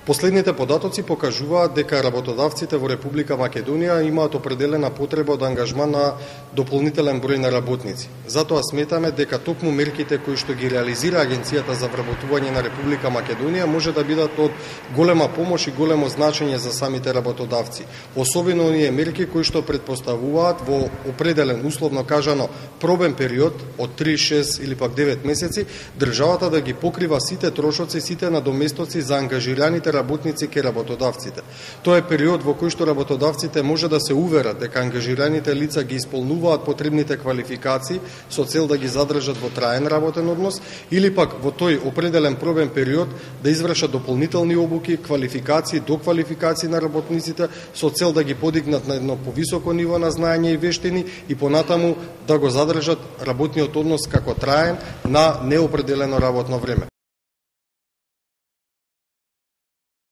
Последните податоци покажуваат дека работодавците во Република Македонија имаат определена потреба од ангажман на дополнителен број на работници. Затоа сметаме дека токму мерките кои што ги реализира Агенцијата за вработување на Република Македонија може да бидат од голема помош и големо значење за самите работодавци. Особено оние мерки кои што предпоставуваат во определен, условно кажано, пробен период од 3, 6 или пак 9 месеци, државата да ги покрива сите трошоци, сите надоместоци за ангажираните работници ке работодавците. Тоа е период во кој што работодавците може да се уверат дека ангажираните лица ги исполнуваат потребните квалификации со цел да ги задржат во траен работен однос или пак во тој определен пробен период да извршат дополнителни обуки, квалификации, доквалификации на работниците со цел да ги подигнат на едно повисоко ниво на знаење и вештини и понатаму да го задржат работниот однос како траен на неопределено работно време.